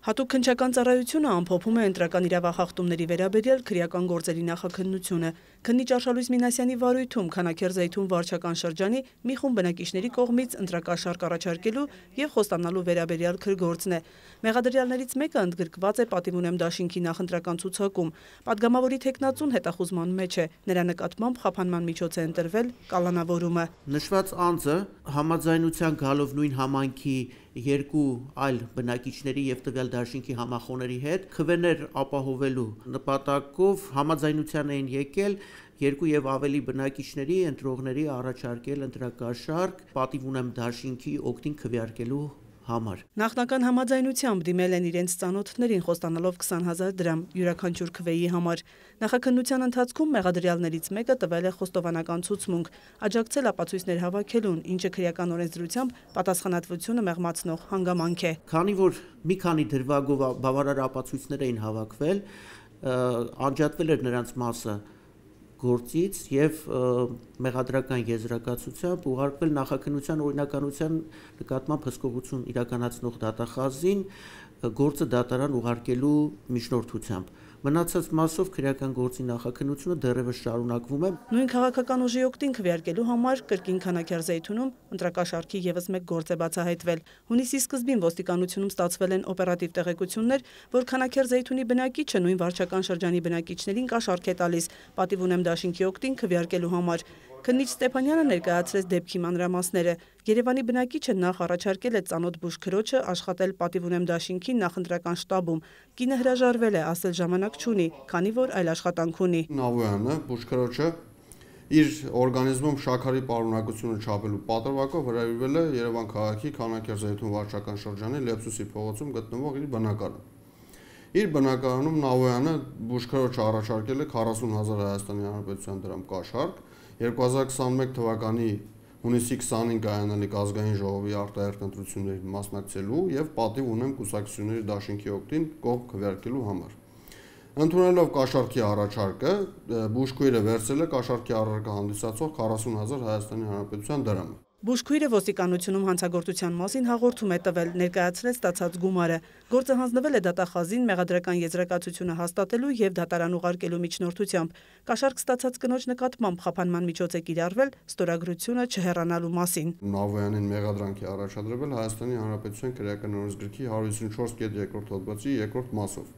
Հատուկ քննչական ծառայությունը ամփոփում է ընտրական իրավախախտումների վերաբերյալ քրեական գործերի նախաքննությունը։ Քննիչ Արշալույս Մինասյանի վարույթում Քանաքեռ-Զայթուն վարչական շրջանի մի խումբ բնակիչների կողմից ընտրակաշարք առաջարկելու եւ խոստանալու վերաբերյալ քրգործն է։ Մեղադրյալներից մեկը ընդգրկված է պատիվ ունեմ դաշինքի նախընտրական ցուցակում։ Պատգամավորի թեկնածուն հետախուզման մեջ է։ Նրա նկատմամբ խափանման միջոց է ընտրվել կալանավորումը։ Նշված անձը համաձայնության գալով նույն համայնքի երկու այլ բնակիչների եւ տվյալ դաշինքի համախոհների հետ քվեներ ապահովելու նպատակով համաձայնության էին եկել երկու եւ ավելի բնակիչների ընտրողների առաջարկել ընտրակաշարք պատիվ ունեմ դաշինքի օգտին քվեարկելու համար։ Նախնական համաձայնությամբ դիմել են իրենց ծանոթներին խոստանալով 20,000 դրամ յուրաքանչյուր քվեի համար։ Նախաքննության ընթացքում մեղադրյալներից մեկը տվել է խոստովանական ցուցմունք, աջակցել ապացույցներ հավաքելուն, ինչը քրեական օրենսդրությամբ պատասխանատվությունը մեղմացնող հանգամանք է։ Քանի որ մի քանի դրվագով բավարար ապացույցներ էին հավաքվել, անջատվել էր նրանց մասը գործից եւ մեղադրական եզրակացությամբ ուղարկվել նախաքննության օրինականության նկատմամբ հսկողություն իրականացնող դատախազին գործը դատարան ուղարկելու միջնորդությամբ։ Մնացած մասով քրեական գործի նախաքննությունը դեռևս շարունակվում է։ Նույն քաղաքական ուժի օգտին քվեարկելու համար կրկին Քանաքեռ-Զայթունում ընտրակաշարքի եւս մեկ գործ է բացահայտվել։ Հունիսի սկզբին ոստիկանությունում ստացվել են օպերատիվ տեղեկություններ, որ Քանաքեռ-Զայթունի բնակիչը նույն վարչական շրջանի բնակիչներին կաշառք է տալիս պատիվ ունեմ դաշինքի օգտին քվեարկելու համար։ Քննիչ Ստեփանյանը ներկայացրեց դեպքի մանրամասները։ Երևանի բնակիչը նախ առաջարկել է ծանոթ բուժքրոջը աշխատել պատիվ ունեմ դաշինքի նախընտրական շտաբում։ Կինը հրաժարվել է, ասել ժամանակ չունի, քանի որ այլ աշխատանք ունի։ Նավոյանը բուժքրոջը իր օրգանիզմում շաքարի պարունակությունը չափելու պատրվակով հրավիրվել է Երևան քաղաքի Քանաքեռ-Զայթուն վարչական շրջանի Լեպսուսի փողոցում գտնվող իր բնակարան։ Իր բնակարանում Նավոյանը բուժքրոջը առաջարկել է 40,000 Հայաստանի Հանրապետության դրամ կաշառք 2021 թվականի հունիսի 25 կայանալիք ազգային ժողովի արտահերթ ընտրություններին մասնակցելու եւ պատիվ ունեմ կուսակցությունների դաշինքի օգտին կողմ քվեարկելու համար։ Ընդունելով կաշառքի առաջարկը, բուժքույրը վերցրել է կաշառքի առարկա հանդիսացող 40,000 Հայաստանի Հանրապետության դրամ։ Բուժքույրը ոստիկանությունում հանցագործության մասին հաղորդում է տվել, ներկայացրել ստացած գումարը։ Գործը հանձնվել է դատախազին մեղադրական եզրակացությունը հաստատելու եւ դատարան ուղարկելու միջնորդությամբ։ Կաշառք ստացած կնոջ նկատմամբ խափանման միջոց է կիրառվել ստորագրությունը չհեռանալու մասին։ Նավոյանին մեղադրանք է առաջադրվել Հայաստանի Հանրապետության քրեական օրենսգրքի 154.2 հոդվածի 2-րդ մասով։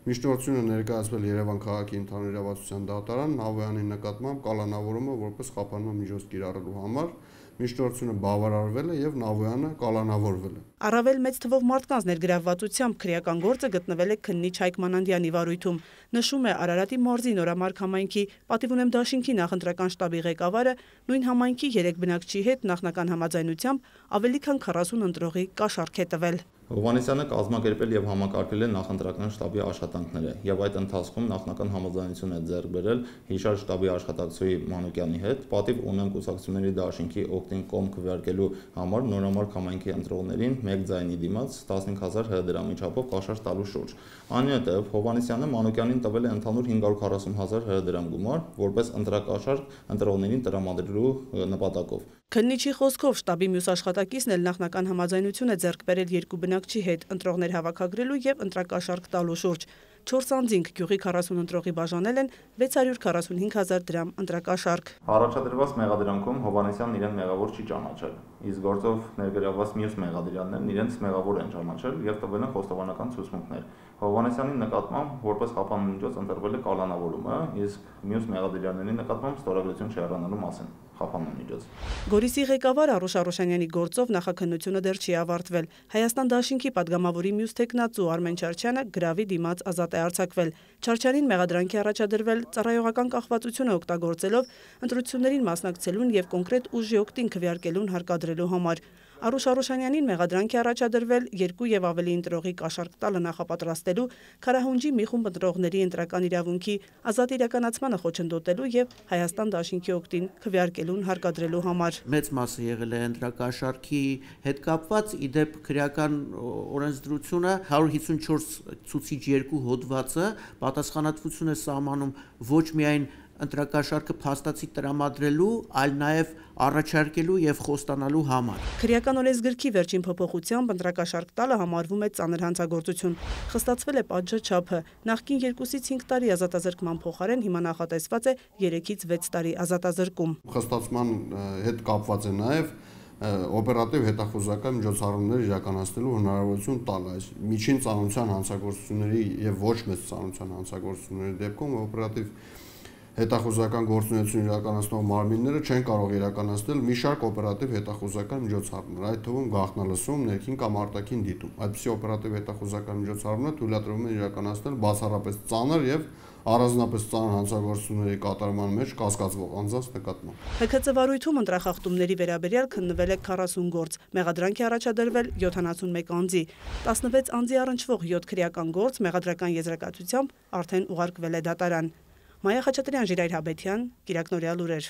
Միջնորդությունը ներկայացվել Երևան քաղաքի ընդհանուր իրավասության դատարան Նավոյանի նկատմամբ կալանավորումը որպես խափանման միջոց կիրառելու համար միջնորդությունը բավարարվել է եւ Նավոյանը կալանավորվել է։ Առավել մեծ թվով մարդկանց ներգրավվածությամբ քրեական գործը գտնվել է քննիչ Հայկ Մանանդյանի վարույթում։ Նշում է Արարատի մարզի Նորամարկ համայնքի պատիվ ունեմ դաշինքի նախընտրական շտաբի ղեկավարը նույն համայնքի 3 բնակչի հետ նախնական համաձայնությամբ ավելի քան 40 ընտրողի կաշառք է տվել։ Հովհաննիսյանը կազմակերպել եւ համակարգել է նախընտրական շտաբի աշխատանքները եւ այդ ընթացքում նախնական համաձայնություն է ձեռք բերել հիշար շտաբի աշխատակցուհի Մանուկյանի հետ պատիվ ունեմ կուսակցությունների դաշինքի օգտին կողմ քվեարկելու համար Նորամարկ համայնքի ընտրողներին մեկ ձայնի դիմաց 15,000 դրամի չափով կաշառք տալու շուրջ։ Այնուհետև Հովհաննիսյանը Մանուկյանին տվել է ընդհանուր 540,000 դրամ գումար որպես ընտրակաշառք ընտրողներին տրամադրելու նպատակով։ Քննիչի խոսքով շտաբի մյուս աշխատակիցն էլ նախնական համաձայնություն է ձեռք բերել երկու բնակչի հետ ընտրողներ հավաքագրելու եւ ընտրակաշառք տալու շուրջ։ 4 անձինք գյուղի 40 ընտրողի բաժանել են 645,000 դրամ ընտրակաշառք։ Առաջադրված մեղադրանքում Հովհաննիսյանն իրեն մեղավոր չի ճանաչել, իսկ գործով ներգրավված մյուս մեղադրյալներն իրենց մեղավոր են ճանաչել եւ տվել են խոստովանական ցուցմունքներ։ Հովհաննիսյանի նկատմամբ որպես խափանման միջոց ընտրվել է կալանավորումը, իսկ մյուս մեղադրյալների նկատմամբ ստորագրություն չհեռանալու մասին խափանման միջոց։ Գորիսի ղեկավար Արուշ Արուշանյանի գործով նախաքննությունը դեռ չի ավարտվել։ Հայաստան դաշինքի падգամավորի մյուս թեկնածու Արմեն Չարչյանը գրավի դիմաց ազատ է արձակվել։ Չարչյանին մեղադրանք է առաջադրվել ծառայողական կախվածությունը օգտագործելով ընտրություններին մասնակցելուն եւ կոնկրետ ուժի օգտին քվեարկելուն հարկադրելու համար։ Արուշ Արուշանյանին մեղադրանք է առաջադրվել 2 եւ ավելի ընտրողի կաշառք տալը նախապատրաստելու, Քարահունջի մի խումբ ընտրողների ընտրական իրավունքի ազատ իրականացմանը խոչընդոտելու եւ Հայաստան դաշինքի օգտին քվեարկելուն հարկադրելու համար։ Մեծ մասը եղել է ընտրակաշառքի հետ կապված, իդեպ քրեական օրենսդրությունը 154 ցուցիչ 2 հոդվածը պատասխանատվություն է սահմանում ոչ միայն ընտրակաշառքը փաստացի տրամադրելու, այլ նաև առաջարկելու եւ խոստանալու համար։ Քրեական օրենսգրքի վերջին փոփոխությամբ ընտրակաշառք տալը համարվում է ծանր հանցագործություն։ Խստացվել է պատժաչափը։ Նախկին 2-ից 5 տարի ազատազրկման փոխարեն հիմա նախատեսված է 3-ից 6 տարի ազատազրկում։ Խստացման հետ կապված է նաև օպերատիվ հետախուզական միջոցառումներ իրականացնելու հնարավորություն տալ այս միջին ծանրության հանցագործությունների եւ ոչ մեծ ծանրության հանցագործությունների դեպքում օպերատիվ հետախուզական գործունեություն իրականացնող մարմինները չեն կարող իրականացնել մի շարք օպերատիվ հետախուզական միջոցառումներ, այդ թվում գաղտնալսում, ներքին կամ արտաքին դիտում։ Այդպիսի օպերատիվ հետախուզական միջոցառումները թույլատրվում են իրականացնել բացառապես ծանր եւ առանձնապես ծանր հանցագործությունների կատարման մեջ կասկածվող անձանց նկատմամբ։ ՀՔԾ վարույթում ընտրախախտումների վերաբերյալ քննվել է 40 գործ, մեղադրանք է առաջադրվել 71 անձի, 16 անձի առնչվող 7 քրեական գործ մեղադրական եզրակացությամբ արդեն ուղարկվել է դատարան։ Մայա Խաչատրյան, Ժիրայր Հաբետյան, Կիրակնորյալ լուրեր։